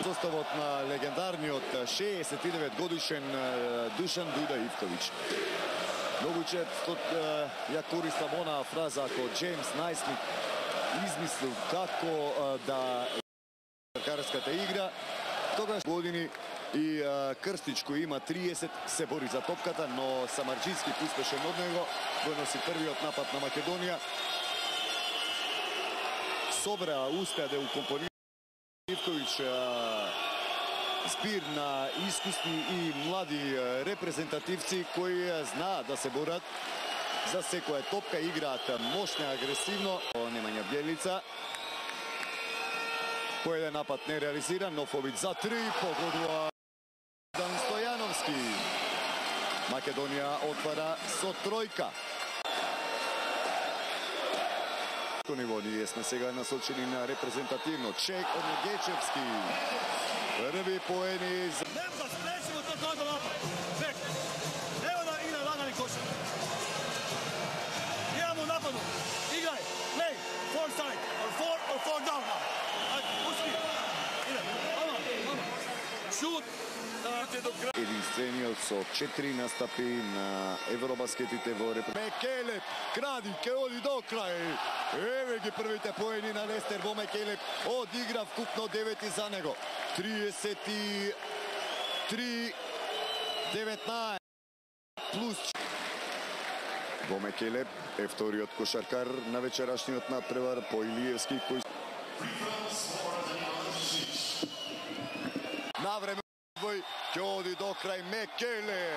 Составот на легендарниот 69 годишен Душан Дуда Ивковиќ. Многу често ја користам онаа фраза ако Джеймс Најсмит измислил како да карската игра, тогаш години и Крстич кој има 30 се бори за топката, но Самарџински успешен од него го носи првиот напад на Македонија. Собра успеа да укомпонира Ивковиќ збир на искусни и млади репрезентативци кои знаат да се борат за секоја топка, играат мощно и агресивно. Немања Бјелица. По еден напад не реализиран, нов обид за 3, погодува Дан Стојановски. Македонија отвара со тројка. Ниво ние сме сега насочени на репрезентативно. Чек од Негечевски. Први поени за... Нема да спречимо тоа да напад. Чек. Нема да игра лагани кошар. Имамо нападу. Играј. Play. Four side. Or four down. Пусти. Иде. Ама. Шут. Единствениот со 4 настапи на Евробаскетите во Мекелеп, кради, ке оди до крај. Еве ги првите поени на Лестер во Мекелеп. Одигра вкупно 9 за него. 33-19 плюс во Мекелеп е вториот кошаркар на вечерашниот надпревар по Илиевски кој навреме ќе оди до крај Мекеле.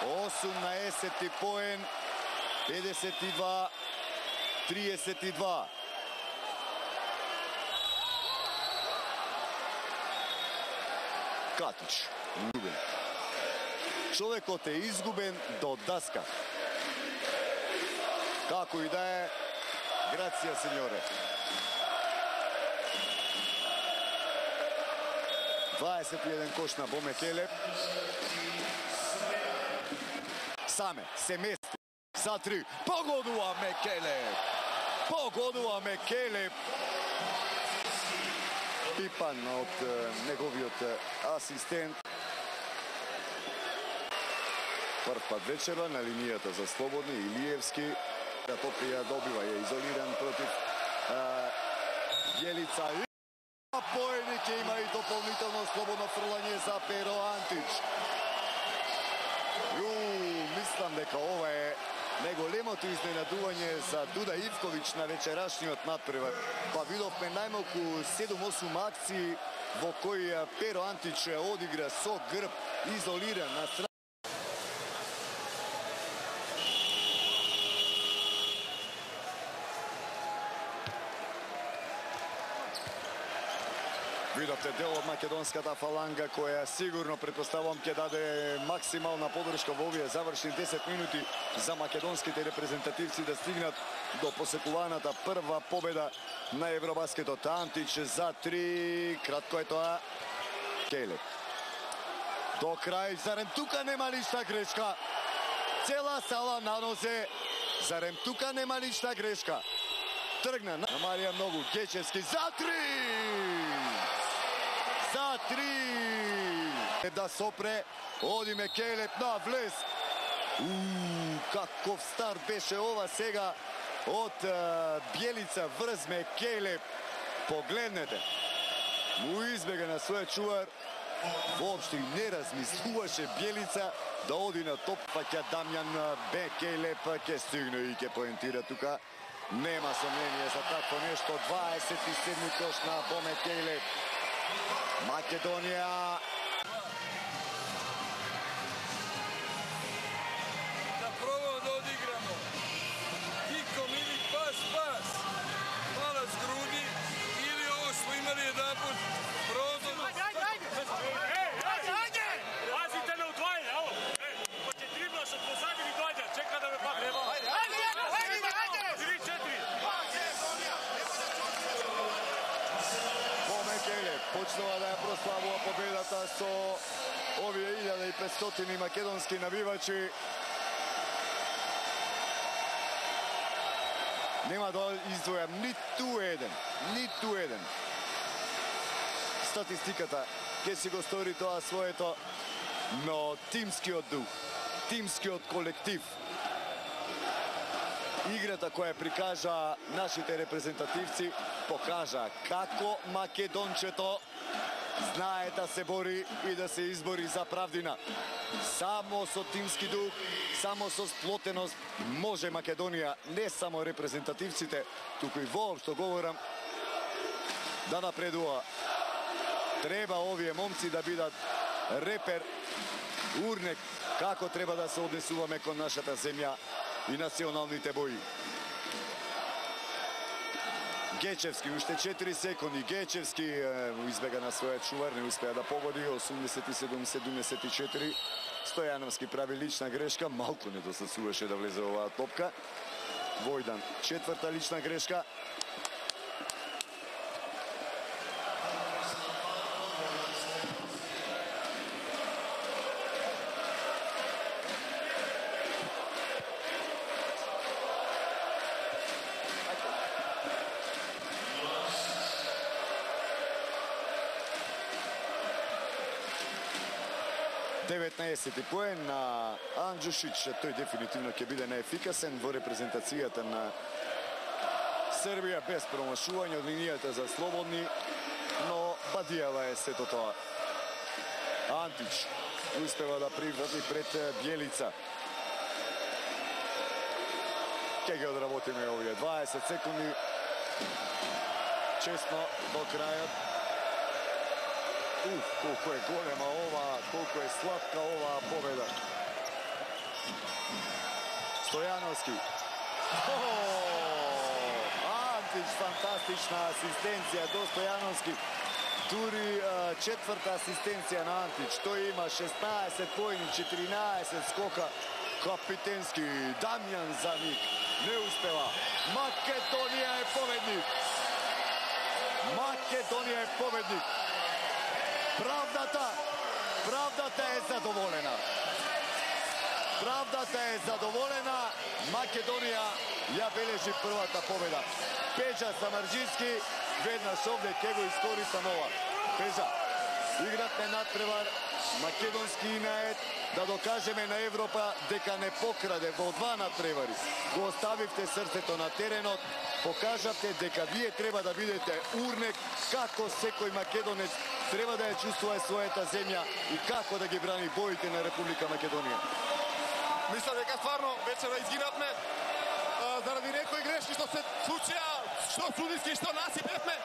18 поен, 52-32. Катич, изгубен. Човекот е изгубен до даска. Како и да е, грација, сеньоре. 21 кош на Бомекелеп. Саме се мести за 3. Погодува Мекелеп. Погодува Мекелеп. Пипан од неговиот асистент. Прв пат вечерва на линијата за слободни. Илиевски. Топија добива, е изолиран против Бјелица. Поени ќе има и дополнително слободно фрлање за Перо Антич. Мислам дека ова е најголемото изненадување за Дуда Ивковиќ на вечерашниот надпревар. Па видовме најмалку 7-8 акции во кои Перо Антич одигра со грб, изолиран на страна. Видовте дел од македонската фаланга која сигурно претпоставувам ќе даде максимална подршка во овие завршни 10 минути за македонските репрезентативци да стигнат до посекуваната прва победа на Евробаскетот. Антич за 3, кратко е тоа. Келеп. До крај, зарем тука нема ништа грешка? Цела сала на нозе. Зарем тука нема ништа грешка? Тргна на Марија многу. Гечевски за 3! За 3! Да сопре, оди Мекелеп на влез. Каков старт беше ова сега од Бјелица врз Мекелеп. Погледнете. Му избега на својот чувар. Воопшто не размислуваше Бјелица да оди на топ, па ќе Дамјан Мекелеп ќе стигне и ќе поентира тука. Нема сомнение за такво нешто. 27 кош на Бомекелеп. Македонија. Да пробамо да одиграмо. Киком или пас. Мала с груди или ово што имали еднапут. Прозорно. Ајде! Пазите на удвајање, аво. Па ќе дрибнаш од позади и доаѓа, чека да ме пакне. Ајде! 3-4. Бомекелеп почнува да ја прославува победата со овие 1500 македонски навивачи. Нема да издвојам ниту еден. статистиката ќе си го стори тоа своето, но тимскиот дух, тимскиот колектив, играта која прикажа нашите репрезентативци, покажа како македончето знае да се бори и да се избори за правдина. Само со тимски дух, само со сплотеност може Македонија, не само репрезентативците, туку и воопшто говорам, да напредува. Треба овие момци да бидат репер, урнек, како треба да се однесуваме кон нашата земја и националните бои. Гечевски, уште 4 секунди. Гечевски избега на својот чувар, не успеа да погоди. 87-74. Стојановски прави лична грешка, малку не досацуваше да влезе оваа топка. Војдан, четврта лична грешка. Поен на Анджушич, тој дефинитивно ќе биде наефикасен во репрезентацијата на Србија, без промашување од линијата за слободни, но Бадијава е сето тоа. Антич успева да прифати пред Бјелица. Ке ги одработиме овие 20 секунди. Честно до крајот. Колко е голема ова, колко е сладка оваа победа. Стојановски. Антич, фантастична асистенција до Стојановски. Дури четврта асистенција на Антич. Тој има 16 поени, 14 скока. Капитенски Дамјан за нив не успева. Македонија е победник. Македонија е победник. Правдата е задоволена. Правдата е задоволена. Македонија ја бележи првата победа. Пеџа Самарџински, веднаш овде ќе го искористам ова. Пеџа, игравме надпревар, македонски инает, да докажеме на Европа дека не покраде во два надпревари. Го оставивте срцето на теренот, покажавте дека вие треба да бидете урнек, како секој македонец треба да ја чувствува својата земја и како да ги брани боите на Република Македонија. Мисля дека стварно вечера изгинавме заради некои грешки што се случија, што судиски, што насипевме,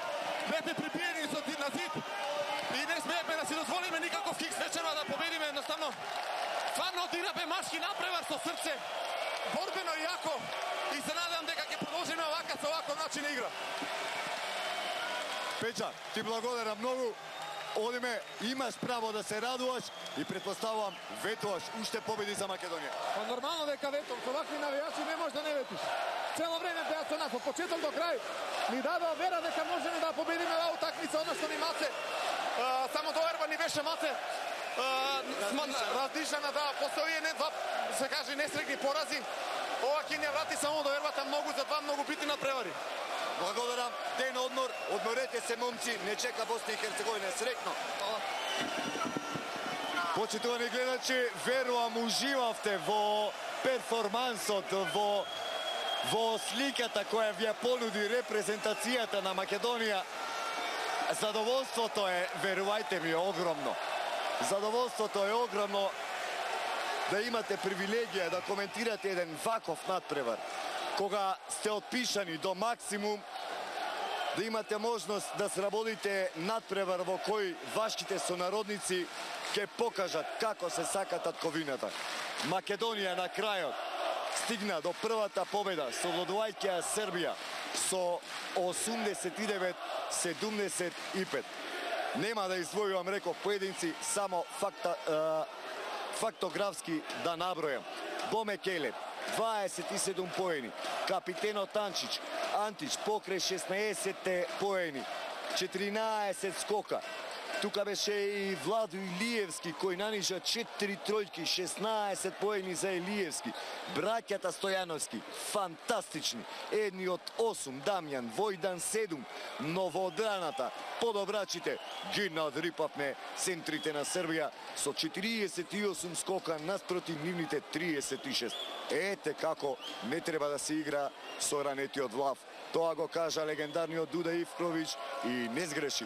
бевме прибиени на зид и не смеевме да си дозволиме никаков кикс вечера да победиме. Едноставно, стварно одигравме машки напревар со срце, борбено и јако, и се надевам дека ќе продолжиме овака со оваков начин игра. Пеџа, ти благодарам многу. Одиме, имаш право да се радуваш и предпоставувам ветуваш уште победи за Македонија. Па нормално дека ветувам, со вакви навијачи не можеш да не ветиш. Цело време беа со нас, од почеток до крај ни дадоа вера дека можеме да победиме оваа утакмица, односно ни маце. Само доверба ни беше маце. Раздишана, да, после овие два, се каже, несрекни порази. Ова ќе ни врати само довербата многу за два многу битни надпревари. Благодарам, ден одмор, одморете се момци, не чека Босна и Херцеговина, среќно. Почитувани гледачи, верувам уживавте во перформансот, во сликата која ви ја понуди репрезентацијата на Македонија. Задоволството е, верувајте ми, огромно. Задоволството е огромно да имате привилегија да коментирате еден ваков надпревар. Кога сте отпишани до максимум, да имате можност да сработите надпревар во кој вашите сонародници ќе покажат како се сака татковината. Македонија на крајот стигна до првата победа, совладувајќи Србија со 89-75. Нема да извојувам, реков, поединци, само фактографски да набројам. Боме Келеб, 27 поени. Капитенот Антич покрај 16 поени. 14 скока. Тука беше и Владо Илиевски кој нанижа 4 тројки, 16 поени за Илиевски. Браќата Стојановски, фантастични. Едни од 8, Дамјан, Војдан 7, новоодраната, подобрачите ги надрипавме центрите на Србија со 48 скока наспроти нивните 36. Ете како не треба да се игра со ранетиот влав. Тоа го кажа легендарниот Дуда Ивкровиќ и не сгреши.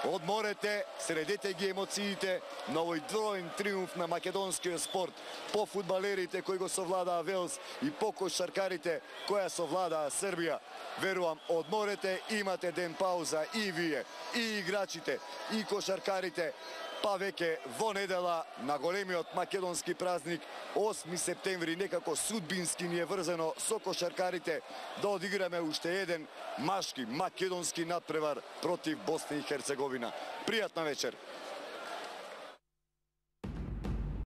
Одморете, средете ги емоциите на овој двоен триумф на македонскиот спорт по фудбалерите кои го совладаа Велс и по кошаркарите која совладаа Србија. Верувам, одморете, имате ден пауза и вие, и играчите, и кошаркарите, па веќе во недела на големиот македонски празник 8 септември некако судбински ни е врзано со кошаркарите да одиграме уште еден машки македонски надпревар против Босна и Херцеговина. Пријатна вечер.